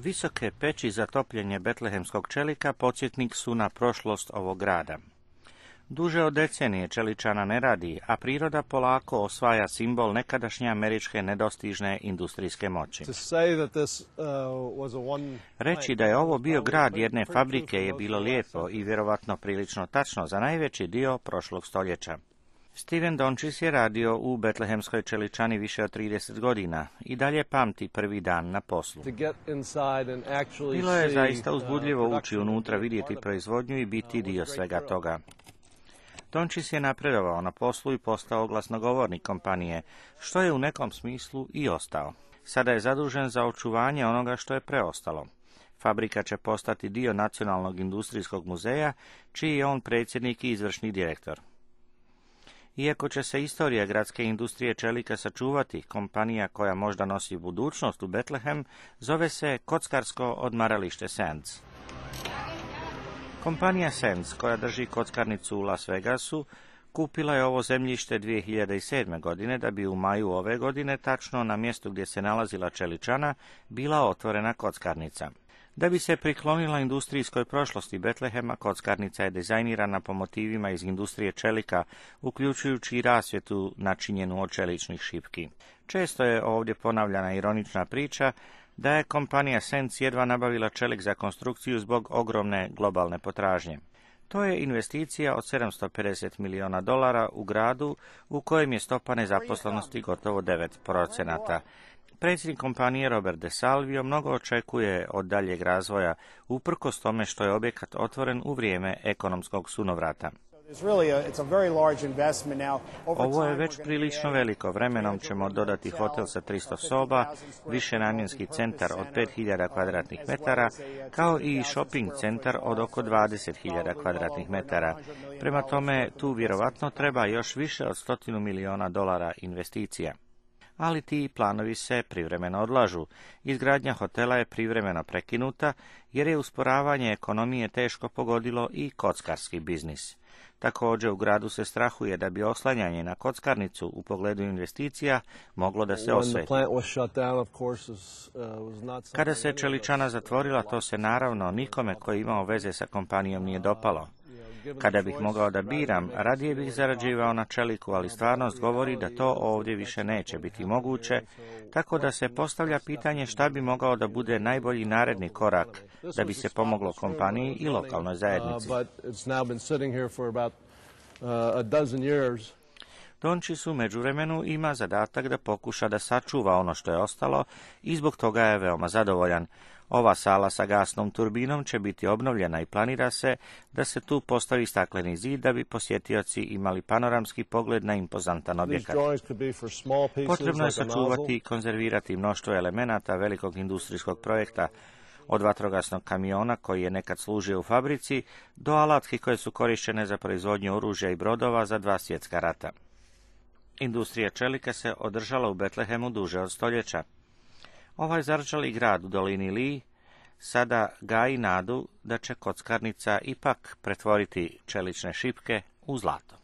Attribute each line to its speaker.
Speaker 1: Visoke peći za topljenje betlehemskog čelika podsjetnik su na prošlost ovog grada. Duže od decenije čeličana ne radi, a priroda polako osvaja simbol nekadašnje američke nedostižne industrijske moći. Reći da je ovo bio grad jedne fabrike je bilo lijepo i vjerovatno prilično tačno za najveći dio prošlog stoljeća. Steven Dončić je radio u betlehemskoj čeličani više od 30 godina i dalje pamti prvi dan na poslu. Bilo je zaista uzbudljivo ući unutra, vidjeti proizvodnju i biti dio svega toga. Dončić je napredovao na poslu i postao glasnogovornik kompanije, što je u nekom smislu i ostao. Sada je zadužen za očuvanje onoga što je preostalo. Fabrika će postati dio Nacionalnog industrijskog muzeja, čiji je on predsjednik i izvršni direktor. Iako će se istorija gradske industrije čelika sačuvati, kompanija koja možda nosi budućnost u Betlehem zove se kockarsko odmaralište Sands. Kompanija Sands, koja drži kockarnicu u Las Vegasu, kupila je ovo zemljište 2007. godine da bi u maju ove godine, tačno na mjestu gdje se nalazila čeličana, bila otvorena kockarnica. Da bi se priklonila industrijskoj prošlosti Betlehema, kockarnica je dizajnirana po motivima iz industrije čelika, uključujući i rasvjetu načinjenu od čeličnih šipki. Često je ovdje ponavljana ironična priča da je kompanija Sands jedva nabavila čelik za konstrukciju zbog ogromne globalne potražnje. To je investicija od $750 milijuna u gradu u kojem je stopa nezaposlenosti gotovo 9%. Predsjednik kompanije Robert DeSalvio mnogo očekuje od daljeg razvoja, uprkos tome što je objekat otvoren u vrijeme ekonomskog sunovrata. Ovo je već prilično veliko. Vremenom ćemo dodati hotel sa 300 soba, višenamjenski centar od 5000 kvadratnih metara, kao i shopping centar od oko 20.000 kvadratnih metara. Prema tome, tu vjerovatno treba još više od $100 milijuna investicija. Ali ti planovi se privremeno odlažu. Izgradnja hotela je privremeno prekinuta jer je usporavanje ekonomije teško pogodilo i kockarski biznis. Također u gradu se strahuje da bi oslanjanje na kockarnicu u pogledu investicija moglo da se osveti. Kada se čeličana zatvorila, to se naravno nikome koji imao veze sa kompanijom nije dopalo. Kada bih mogao da biram, radije bih zarađivao na čeliku, ali stvarnost govori da to ovdje više neće biti moguće, tako da se postavlja pitanje šta bi mogao da bude najbolji naredni korak da bi se pomoglo kompaniji i lokalnoj zajednici. Dončić u međuvremenu ima zadatak da pokuša da sačuva ono što je ostalo i zbog toga je veoma zadovoljan. Ova sala sa gasnom turbinom će biti obnovljena i planira se da se tu postavi stakleni zid da bi posjetioci imali panoramski pogled na impozantan objekat. Potrebno je sačuvati i konzervirati mnoštvo elemenata velikog industrijskog projekta, od vatrogasnog kamiona koji je nekad služio u fabrici do alatki koje su korištene za proizvodnju oružja i brodova za 2 svjetska rata. Industrija čelika se održala u Betlehemu duže od stoljeća. Ovaj zarčali grad u dolini Lee sada gaji nadu da će kockarnica ipak pretvoriti čelične šipke u zlato.